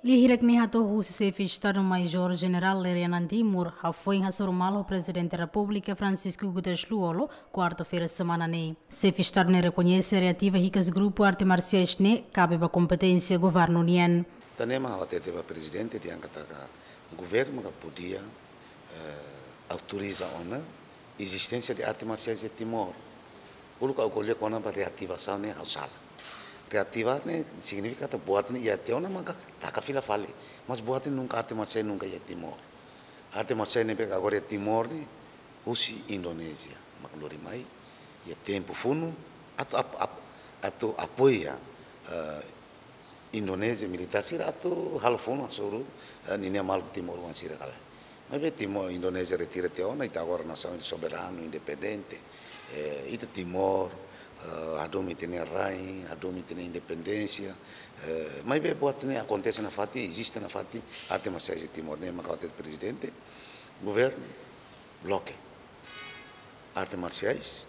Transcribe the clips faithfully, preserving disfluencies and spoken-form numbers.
Lia hirak ne'e hato'o husi Xefe Estadu Maiór Jenerál Lere Anan Timur, hafoin hasoru malu ho Prezidente Repúblika Francisco Guterres Lú-Olo, kuarta-feira semana ne'e. Xefe Estadu ne'e rekoñese reativa hikas grupu arte marsiais ne'e kabe ba kompeténsia governu nian. Tanba ne'e mak ha'u hatete ba Prezidente dehan katak governu maka podia, eh, autoriza ona ezisténsia de arte marsiais iha Timor. Uluk ha'u ko'alia kona-ba reativasaun ne'e ha'u sala. Reativa ne'e signifika katak buat ne'e iha tiha ona maka taka fila fali. Mas buat ne'e nunka, arte marsiais nunka iha Timor. Arte marsiais ne'ebé agora iha Timor ne'e husi Indonézia mak lori mai iha tempu funu atu ap-, ap-, atu apoia, eh, Indonézia militár sira atu halo funu hasoru, eh, ninia maluk timoroan sira kala. Maibé Timor, Indonézia retira tiha ona, ita agora nasaun soberanu, independente. Eh, ita Timor, eh, hadomi ita-nia rai, hadomi ita-nia independénsia. Eh, maibé buat ne'e akontese nafatin, eziste nafatin arte marsiais iha Timor, ne'e maka hatete Prezidente, governu bloke arte marsiais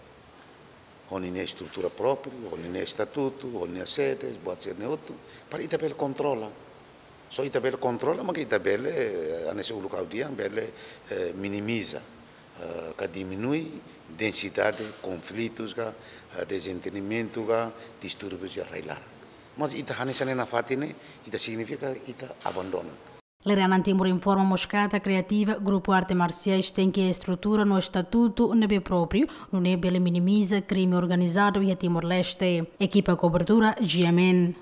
ho ninia estrutura própriu, ho ninia estatutu, ho ninia sedes, buat sira-ne'e hotu, para ita bele kontrola. Só ita bele kontrola, maka ita bele, eh, hanesan uluk ha'u dehan, bele, eh, minimiza, eh, ka diminui densidade konflitus ka, eh, dezentendimentu ka, distúrbius iha rai-laran. Mas ita hanesan ne'e nafatin ne'e, ita signifika ita abandona. Lere Anan Timur informa mós katak reativa grupu arte marsiais tenke estrutura no estatutu ne'ebé própriu, nune'e bele minimiza krime organizadu iha Timor-Leste. Ekipa kobertura, G M N.